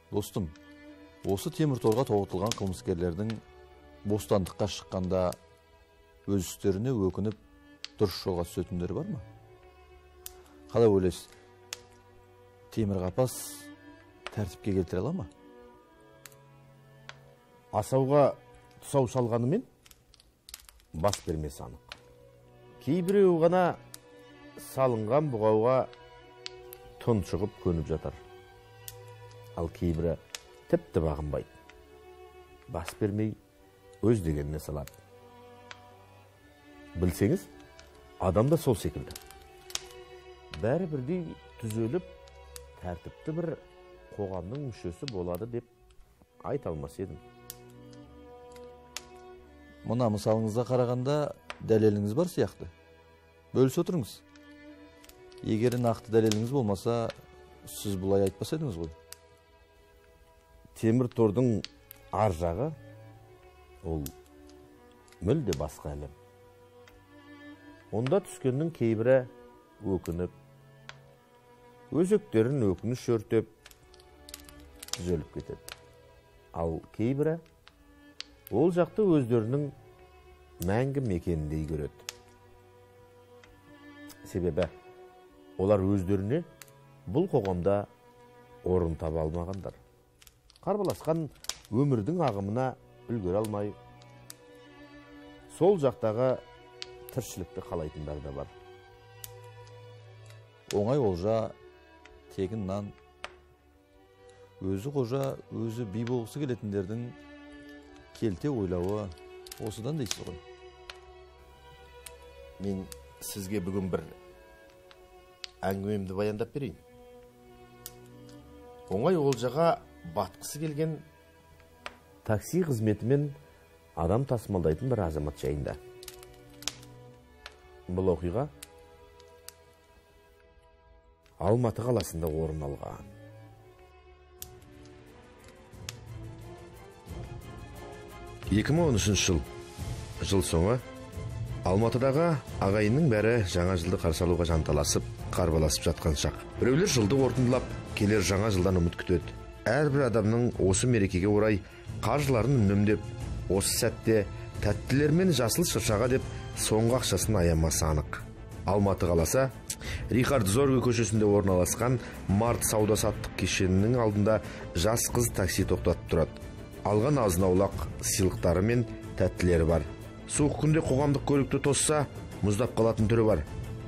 Достум, осы темір торға тоғытылған кылмыскерлердің бостандыққа шыққанда өз істеріне өкініп дұрыс жолға түсетіндері бар ма? Қалай ойлайсыз? Темір қапас тәртіпке келтіре ала ма? Асауға тұсау салғанымен бас бермесі анық. Кейбіреу ғана салынған бұғауға тұншығып көніп жатар. Ал кейбірі тіпті бағынбайды. Бас бермей өз дегеніне салады. Білсеңіз, адам да сол секілді. Бәрі бірдей түзеліп, тәртіпті бір қоғамның мүшесі болады деп айта алмас едім. Мұна мысалыңызға қарағанда дәлеліңіз бар сияқты. Бөлісе отырыңыз. Егер нақты дәлеліңіз болмаса, сіз бұлай айтпас едіңіз ғой. Темір тордың ар жағы ол мүлде басқа әлем. Онда түскеннің кейбірі өкініп, өзектерін өкініш өртеп, түзеліп кетеді. Ал кейбірі ол жақты өздерінің мәңгі мекеніндей көреді. Себебі олар өздеріне бұл қоғамда орын таба алмағандар. Қарбаласқан өмірдің ағымына үлгере алмай, сол жақтағы тіршілікті қалайтындар да бар. Оңай олжа, тегін нан, өзі қожа, өзі би болғысы келетіндердің келте ойлауы осыдан дейсіз ғой. Мен сізге бүгін бір әңгімемді баяндап берейін. Оңай олжаға батқысы келген такси қызметімен адам тасымалдайтын бір азамат жайында. Бұл оқиға Алматы қаласында орын алған. Жыл соңы Алматыдағы ағайынның бәрі жаңа жылды қарсы алуға жанталасып, қарбаласып жатқан шақ. Біреулер жылды қорытындылап, келер жаңа жылдан үміт күтеді. Әрбір адамның осы мерекеге орай қаржыларын үнемдеп, осы сәтте тәттілер мен жасыл шыршаға деп соңғы ақшасын аямасы анық. Алматы қаласы Рихард Зорге көшесінде орналасқан Март сауда-саттық кешенінің алдында жас қыз такси тоқтатып тұрады. Алған азын-аулақ сыйлықтары мен тәттілері бар. Суық күнде қоғамдық көлікті тосса, мұздап қалатын түрі бар.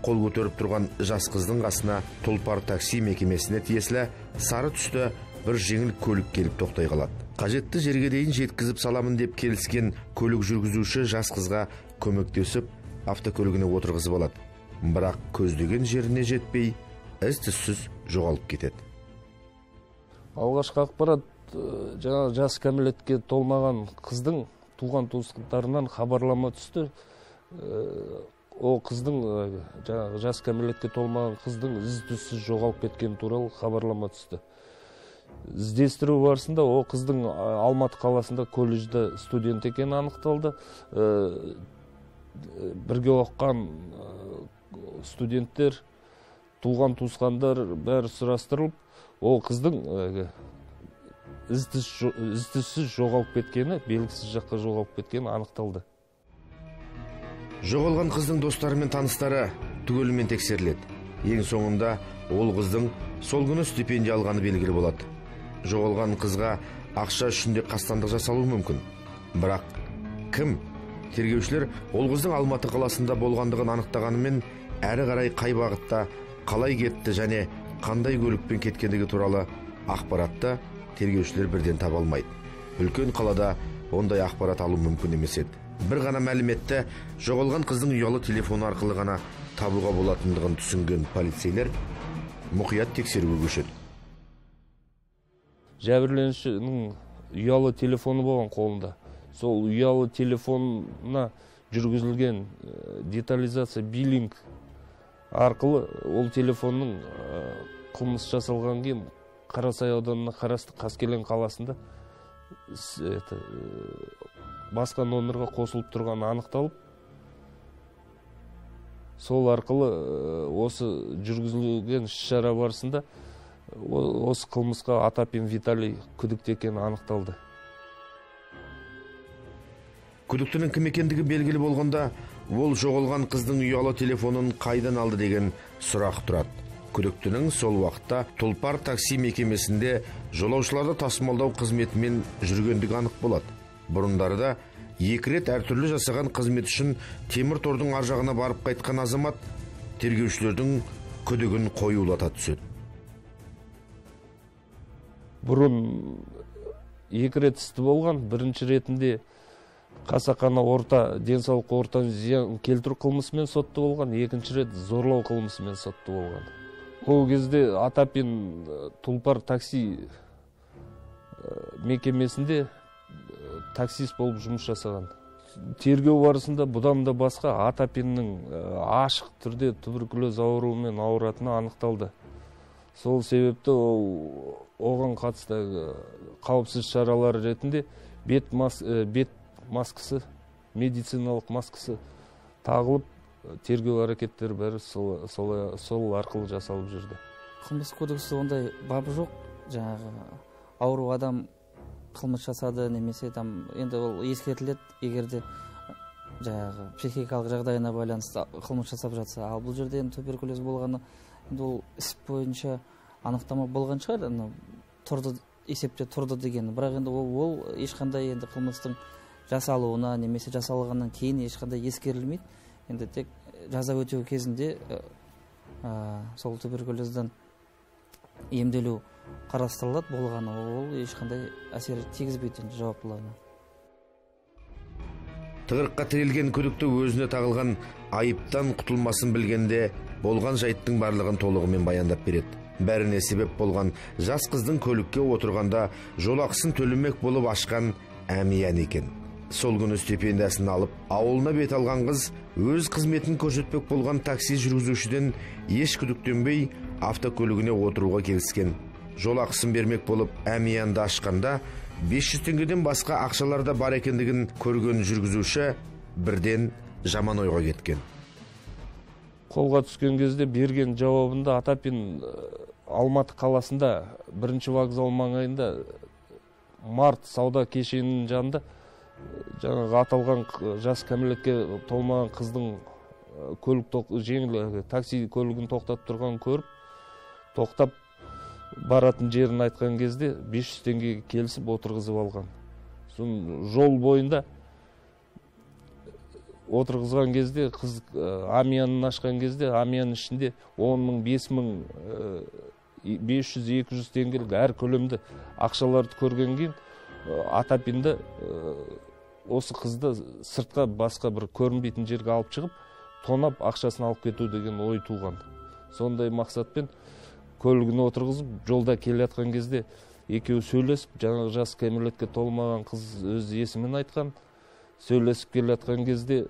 Қол көтеріп тұрған жас қыздың қасына Тұлпар такси мекемесіне тиесілі сары түсті бір жеңіл көлік келіп тоқтай қалады. Қажетті жерге дейін жеткізіп саламын деп келіскен көлік жүргізуші жас қызға көмектесіп, автокөлігіне отырғызып алады. Бірақ көздеген жеріне жетпей, із-түзсіз жоғалып кетеді. Алғашқы ақпарат жаңа жас кәмелетке толмаған қыздың туған туыстарынан хабарлама түсті. О қыздың жаңағы жас кәмелетке толмаған қыздың із-түзсіз жоғалып кеткені туралы хабарлама түсті. Іздестіру барысында о қыздың Алматы қаласында колледжде студент екені анықталды. Бірге оқыған студенттер, туған туысқандар бәрі сұрастырылып, о қыздың із-түзсіз жоғалып кеткені, белгісіз жаққа жоғалып кеткені анықталды. Жоғалған қыздың достары мен таныстары түгелімен тексеріледі. Ең соңында ол қыздың сол күні стипендия алғаны белгілі болады. Жоғалған қызға ақша үшінде қастандық жасалуы мүмкін. Бірақ кім? Тергеушілер ол қыздың Алматы қаласында болғандығын анықтағанымен, әрі қарай қай бағытта, қалай кетті және қандай көлікпен кеткендігі туралы ақпаратты тергеушілер бірден таба алмайды. Үлкен қалада ондай ақпарат алу мүмкін емес еді. Бір ғана мәліметті жоғалған қыздың ұялы телефоны арқылы ғана табуға болатындығын түсінген полицейлер мұқият тексеруге көшеді. Жәбірленушінің ұялы телефоны болған қолында. Сол ұялы телефонына жүргізілген детализация биллинг арқылы ол телефонның қылмыс жасалған кейін Қарасай ауданына қарасты Қаскелең қаласында басқа номерға қосылып тұрғаны анықталып, сол арқылы осы жүргізілген іс-шара барысында осы кылмыска Атапин Виталий күдүктүү экени аныкталды. Күдүктүүнүн ким экендиги белгилүү болгондо, ол жоголгон кыздын уялуу телефонун кайдан алды деген сурак турат. Күдүктүүнүн сол убакта Тулпар такси мекемесинде жолоочуларды тасымалдоо кызметимен жүргөндүгү анык болот. Бурундары да 2 рет ар түрлүү жасаган кызмет үчүн темир тордун ар жагына барып кайткан азамат тергөөчүлөрдүн күдүгүн коюулата түшөт. Бурун 2 рет исти болгон. Биринчи ретинде касакана орта ден соолукка орта зыян келтирүү кылмышы менен соттуу болгон, экинчи рет зорлоо кылмышы менен соттуу болгон. Ол кезде Атапин Тулпар такси мекемесинде таксист болуп жумуш жасаган. Тергөө барысында будан да башка Атапиндин ашык түрдө туберкулез ооруу менен ооратыны аныкталды. Сол себептен огон катысты каапсыз чаралар ретинде бет маскасы, медициналык маскасы тагылып, тергөө аракеттери баары сол аркылуу жасалып жүрдү. Кылмыш кодексте ондай бап жок. Жанагы ауру адам кылмыш жасады немесе там энди ол эскертилет, эгерде жанагы психикалык жагдайына байланыштуу кылмыш жасап жатса. Ал бул жерде эми туберкулез болгону энди ол ип боюнча аныктама болгон чыгар, турду эсепте турду деген. Бирок энди ол эч кандай энди кылмыштын жасалууна немесе жасалгандан кийин эч кандай эскерилмейт. Энди тек жаза өтөө кезинде сол туберкулезден эмделүү карастырылат болгону, ол эч кандай асер тийгизбейт энди жауаптууларына. Тыгырыкка тирилген күдүктүү өзүнө тагылган айыптан кутулмасын билгенде болгон жайттын барлыгын толугу менен баяндап берет. Бәріне себеп болгон жас кыздын көлүккө отурганда жол акысын төлөмөк болуп ашкан Амиян экен. Сол күнү стипендиясын алып, ауылына бет алган кыз өз кызметін көрсөтпөк болгон такси жүргүзүүчүдөн эч күдүктөнбөй автокөлүгүнө отурууга келишкен. Жол акысын бермек болуп Амиянды ашканда 500 теңгеден башка акчаларда бар экендигин көргөн жүргүзүүчү бирден жаман ойго кеткен. Колго түшкөн кезде берген жабабында Атапин Алматы каласында 1-вокзал маңайында Март сауда кешенинин жанында жаңағы аталган жас кәмелетке толмаган кыздын жеңил такси көлүгүн токтотуп турганын көрүп, токтап баратын жерин айткан кезде 500 теңгеге келишип отургузуп алган. Соң жол боюнда отургузган кезде кыз Амиянын ашкан кезде Амиянын ичинде 10.000, 500, 200 теңгелик ар көлөмдө акчаларды көргөн кийин Атапинде осы кызды сыртка башка бир көрүнбейтин жерге алып чыгып, тонап акчасын алып кетүү деген ой тууган. Сондай максатпен көлүгүнө отургузуп, жолда келе аткан кезде экөө сүйлөшүп, жаңа жас кәмелетке толмаган кыз өз эсимин айткан. Сөйлөшүп келе аткан кезде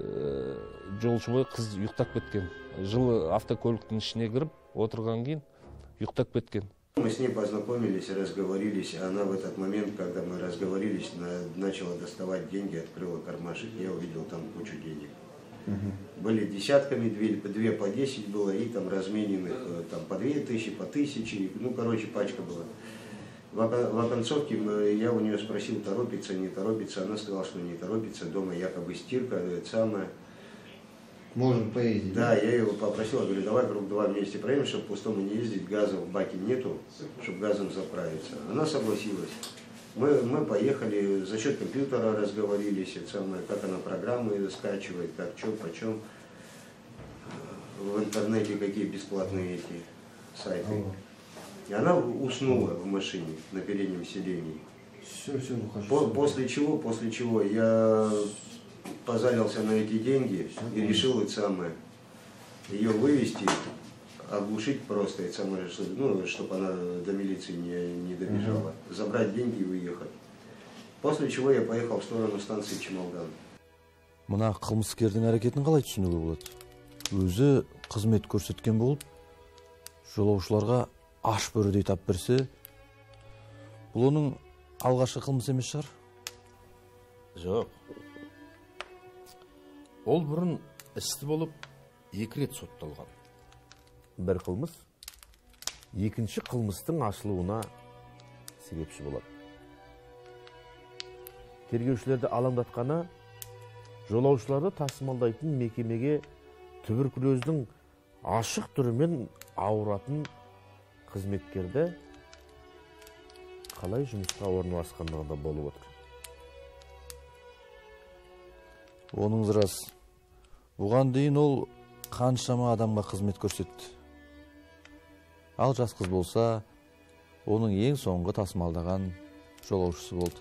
жолчубай кыз уктап кеткен. Жылы автокөлүктүн ичине кирип отурган кийин уктап кеткен. Мы с ней познакомились, разговорились. Она в этот момент, когда мы разговорились, начала доставать деньги, открыла кармашек. Я увидел там кучу денег. Были десятками, 2 по 10 было, и там размененных там, по 2000, по 1000. Ну, короче, пачка была. В оконцовке я у нее спросил, торопится, не торопится. Она сказала, что не торопится. Дома якобы стирка, это самое. Можем поездить. Да, я ее попросил, говорю, давай круг 2 вместе проедем, чтобы пустому не ездить, газа в баке нету, чтобы газом заправиться. Она согласилась. Мы поехали, за счет компьютера разговорились, это самое, как она программы скачивает, как, что, почем. В интернете какие бесплатные эти сайты. И она уснула в машине на переднем сиденье. Все, выхожу. После чего я позарился на эти деньги и решил это самое, ее вывести, оглушить просто, это самое, ну, чтобы она до милиции не добежала, забрать деньги и уехать. После чего я поехал в сторону станции Чемалган. Мына кылмыскердин аракетин калай түшүнүүгө болот? Өзү кызмет көрсөткөн болуп, жолоочуларга аш бөрөдөй тап берсе, бул онун алгачкы кылмысы эмес чыгар? Жок. Ол бурун исти болуп 2 рет соттолгон. Бир кылмыш экинчи кылмыстын ачылууна себепчи болот. Тергөөчүлөрдү алаңдатканы жолоочуларды тасымалдайтын мекемеге туберкулездин ашык түрү менен ауыратын кызметкерде калай жумушка орналашкандыгында болуп отур. Онуңуз рас. Буган дейин ол канчама адамга кызмет көрсөттү. Ал жас кыз болса, onun ең соңғы тасымалдаған жолаушысы болды.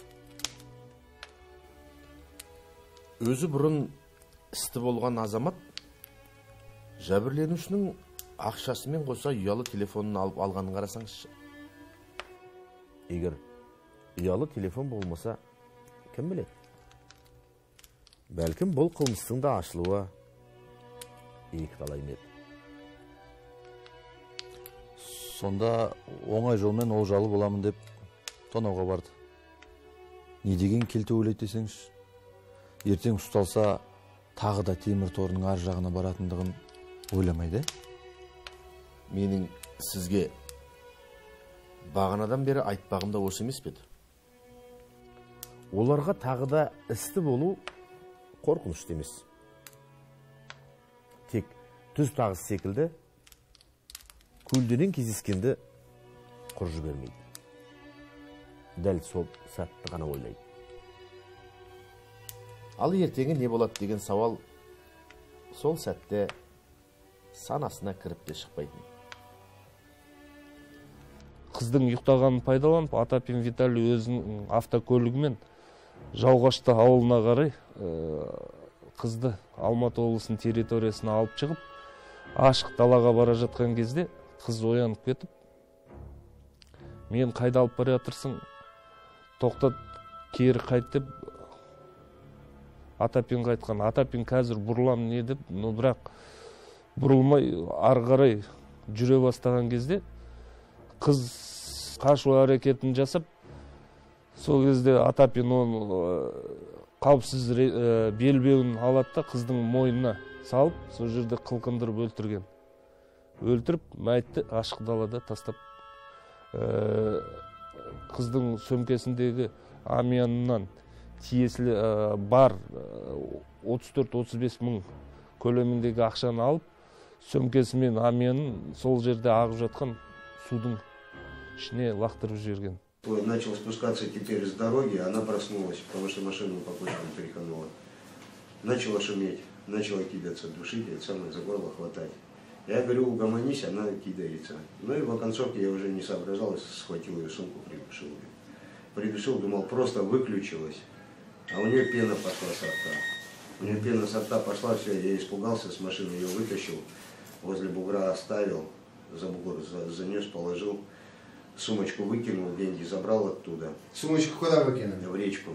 Өзі бұрын істі болған азамат жәбірленушінің ақшасымен қоса ұялы телефонын алып алғанын қарасаңызшы. Егер ұялы телефон болмаса, кім біледі? Бәлкім бұл қылмыстың да ашылуы екіталай еді. Сонда оңай жолмен олжалы боламын деп тонауға барды. Не деген келте ойлайды десеңіз, ертең ұсталса тағы да темір торының ар жағына баратындығын ойламайды. Менің сізге бағанадан бері айтпағым да осы емес пе еді? Оларға тағы да істі болу қорқынышты емес. Тек түз тағыс секілді көлденең кездескенді құр жібермейді. Дәл сол сәтті ғана ойлайды. Ал ертеңі не болады деген сауал сол сәтте санасына кіріп те шықпайтын. Қыздың ұйықтағанын пайдаланып, Атапин Виталий өзінің автокөлігімен Жауғашты ауылына қарай қызды Алматы облысының территориясына алып шығып, ашық далаға бара жатқан кезде қыз оянып кетіп, мен қайда алып бара жатырсың? Тоқтат, кері қайт деп Атапинге айтқан. Атапин қазір бұрылам не деп, бірақ бұрылмай ары қарай жүре бастаған кезде қыз қашу әрекетін жасап, сол кезде Атапин оны қауіпсіз белбеуін алады да қыздың мойнына салып, сол жерде қылқындырып өлтірген. Өлтіріп, мәйітті ашық далада тастап, қыздың сөмкесіндегі амиянынан тиесілі бар 34-35 мың көлеміндегі ақшаны алып, сөмкесімен амиянын сол жерде ағып жатқан судың ішіне лақтырып жіберген. Начал спускаться теперь с дороги, она проснулась, потому что машину по почвам тряханула. Начала шуметь, начала кидаться, душить, это самое, за горло хватать. Я говорю, угомонись, она кидается. Ну и в оконцовке я уже не соображал, схватил ее сумку, придушил ее. Придушил, думал, просто выключилась, а у нее пена пошла со рта. У нее пена со рта пошла, все, я испугался, с машины ее вытащил, возле бугра оставил, за бугор занес, положил. Сумочку выкинул, деньги забрал оттуда. Сумочку куда выкинули? В речку.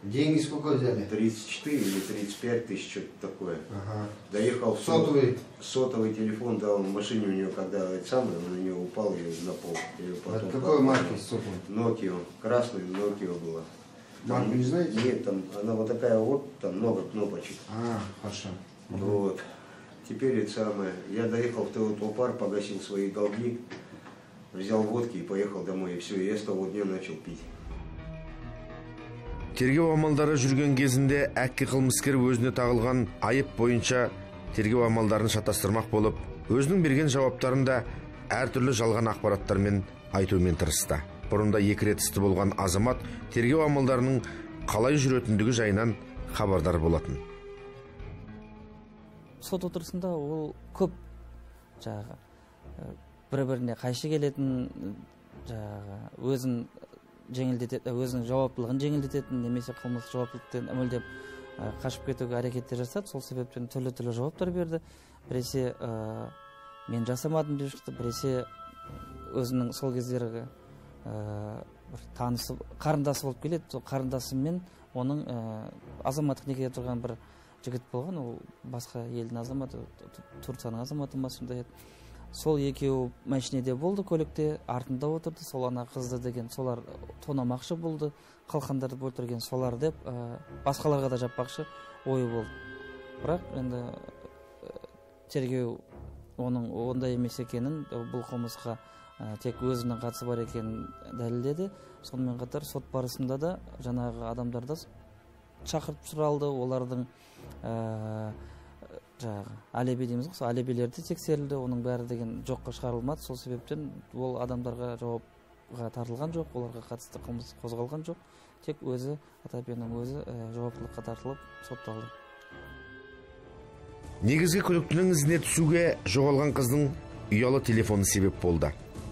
Деньги сколько взяли? 34 или 35 тысяч, что-то такое. Ага. Доехал в Сотовый? Сотовый телефон, да, он в машине у нее, когда это самое, он у нее упал и на пол. От какой марки сотовый? Nokia, красный Nokia было. Марку не знаете? Нет, там она вот такая вот, там много кнопочек. А, хорошо. Вот. Теперь это самое. Я доехал в Теотлопар, погасил свои долги. Взял водки и поехал домой, и все, и я с того дня начал пить. Тергөө амалдары жүрген кезінде әккі қылмыскер өзіне тағылған айып бойынша тергөө амалдарын шатастырмақ болып, өзінің берген жауаптарында әртүрлі жалған ақпараттармен айтумен тырысты. Бұрында 2 рет істі болған азамат тергөө амалдарының қалай жүретіндігі жайынан хабардар болатын. Сот отырысында ол көп жаңағы бір-біріне қайшы келетін, жаңағы өзін жеңілдететін, өзінің жауаптылығын жеңілдететін, немесе қылмыстық жауаптылықтан мүлдем қашып кетуге әрекеттер жасады. Сол себептен түрлі жауаптар берді. Біресе мен жасамадым деп шықты, біресе өзінің сол кездергі танысы, қарындасы болып келеді. Сол қарындасымен оның азаматтық некеде тұрған бір жігіт болған, ол басқа елдің азаматы, Турцияның азаматы ма сондай еді. Сол екеуі машинеде болды, көлікте, артында отырды. Сол ана қызды деген, солар тонамақшы болды, қалқандарды өлтірген солар деп, басқаларға да жаппақшы ойы болды. Бірақ енді тергеу оның ондай емес екенін, бұл қылмысқа тек өзүнүн катысы бар экенин далилдеди. Сонун катар сот барысында да жанагы адамдарда чакыртып суралды, олардын жанагы алиби деймиз го, алибилерди текшерилди, онун баары деген жокко чыгарылмады. Сол себептен бул адамдарга жоопка тартылган жок, аларга катысты кылмыш козголгон жок. Тек өзү Атапенин өзү жооптулукка тартылып соттолду. Негизги күдүктүүнүн изине түшүүгө жоголган кыздын уялы телефону себеп болду.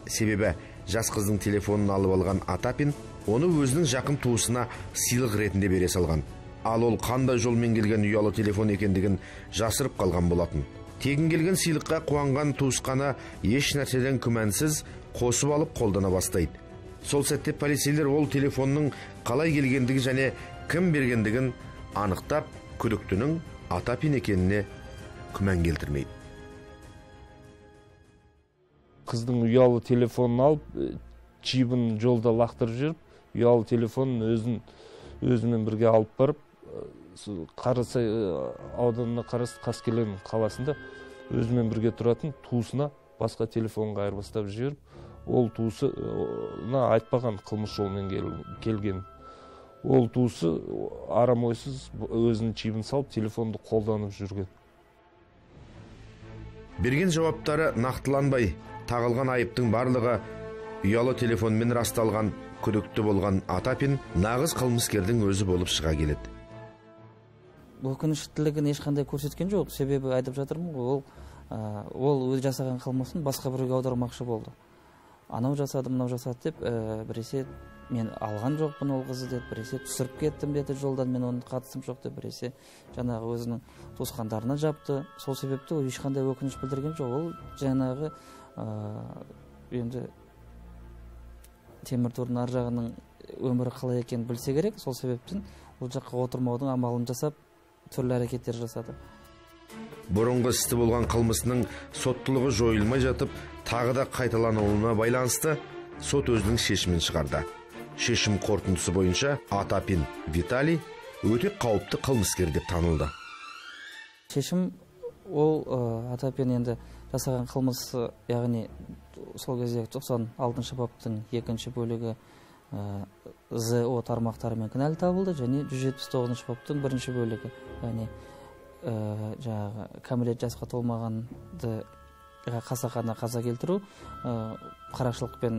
Себеби жас кыздын телефонун алып алган Атапин оны өзүнүн жакын туусуна сыйлык иретинде бере салган. Ал ол кандай жол менен келген уялы телефон экендигин жасырып калган болотун. Тегин келген сыйлыкка кубанган туусканы эч нерседен күмөнсүз косуп алып колдона баштайт. Сол сәтте полицейлер ол телефонун калай келгендиги жана ким бергендигин аныктап, күдүктүүнүн Атапин экенине күмөн келтирмейт. Кыздын уялы телефонун алып, чибин жолдо лактырып жүрүп, уялы телефонун өзү менен бирге алып барып, Карасай ауданына карасты Каскелен каласында өзү менен бирге туратын туусуна башка телефонго айырбастап жиберип, ол туусуна айтпаган кылмыш жол менен келген. Ол туусу арам ойсуз өзүнүн чибин салып, телефонду колдонуп жүргөн. Берген жауаптары нактыланбай, тагылган айыптын барлыгы уялы телефон менен расталган күдүктүү болгон Атапин нагыз кылмыскердин өзү болуп чыга келет. Өкүнүчтүүлүгүн эч кандай көрсөткөн жок. Себеби айтып жатырмын го, ол өзү жасаган кылмысын башка бирөөгө аудармакчы болду. Анау жасады, мынау жасады деп, биресе мен алган жокмун ол кызды деп, биресе түсүрүп кеттим деди жолдан, мен онун катысым жок деп, биресе жанагы өзүнүн туускандарына жапты. Сол себептен эч кандай өкүнүч билдирген жок. Ол жанагы эми темир тордун ар жагынын өмүрү калай экенин билсе керек. Сол себептен бул жакка отурмоодун амалын жасап, түрлүү аракеттер жасады. Бурунку исти болгон кылмысынын соттулугу жоюлмай жатып, тагы да кайталанууна байланыштуу сот өзүнүн шешимин чыгарды. Шешим корутундусу боюнча Атапин Виталий өтө кауптуу кылмыскер деп танылды. Шешим ол Атапин енді жасаған кылмысы, яғни сол кезде 96 баптың 2 бөлігі ЗО тармактарымен кінәлі табылды, және 179 баптың 1 бөлігі, яғни жаңағы кәмелет жасқа толмағанды қасақана қаза келтіру қарақшылықпен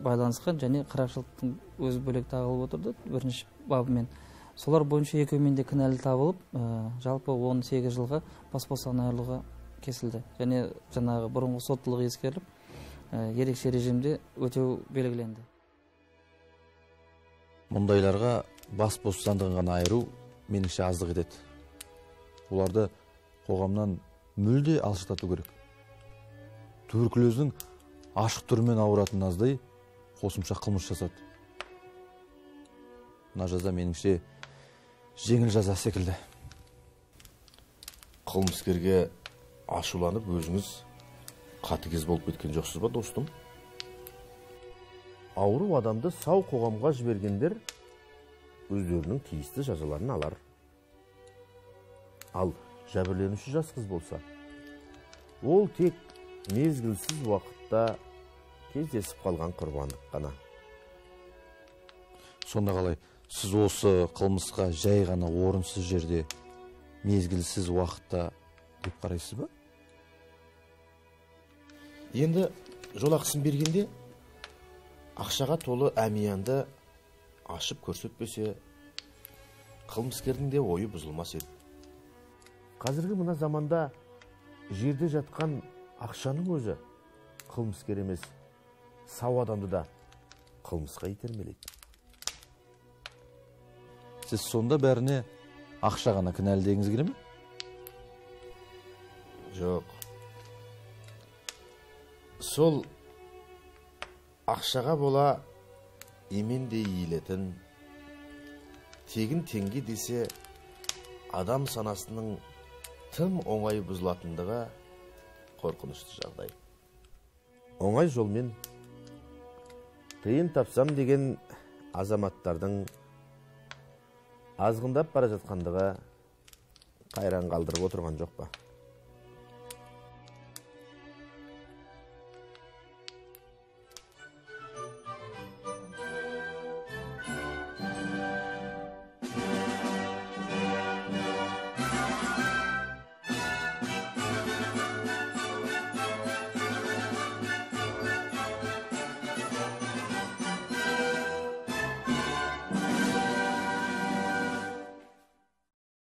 байланысқан, және қарақшылықтың өз бөлек тағылып отырды 1 бабымен. Солар бойынша екеуімен де кінәлі табылып, жалпы 18 жылға бас бостандығынан айырылуға кесілді. Және жаңағы бұрынғы соттылығы ескеріліп, ерекше режимде өтеу белгіленді. Мұндайларға бас бостандығын ғана айыру меніңше аздық етеді. Оларды қоғамнан мүлде алшақтату керек. Туберкулездің ашық түрімен ауыратын аздай қосымша қылмыс жасады. Мына жаза меніңше жеңіл жаза секілді. Кылмыскерге ашуланып өзүңүз катыгез болуп кеткен жоксуз ба, достум? Ауру адамды сау коомго жибергендер өздөрүнүн тийиштүү жазаларын алар. Ал жабырленүүчү жас кыз болса, ол тек мезгилсиз убакытта кездесип калган курбандык гана. Сонда қалай, сіз осы кылмыска жай гана орынсыз жерде мезгилсиз убакытта деп карайсыз ба? Енді жол акысын бергенде акчага толы амиянды ашып көрсөтпөсө, кылмыскердин де ою бузулмас еді. Казыркы мына заманда жерде жаткан акчанын өзү кылмыскер эмес, сау адамды да кылмыска итермелейт. Сіз сонда бәріне ақша ғана кінәлі дегіңіз келе ме? Жоқ. Сол ақшаға бола емендей иілетін, тегін теңге десе адам санасының тым оңай бұзылатындығы қорқынышты жағдай. Оңай жолмен тыйын тапсам деген азаматтардың азғындап бара жатқандығы қайран қалдырып отырған жоқ па?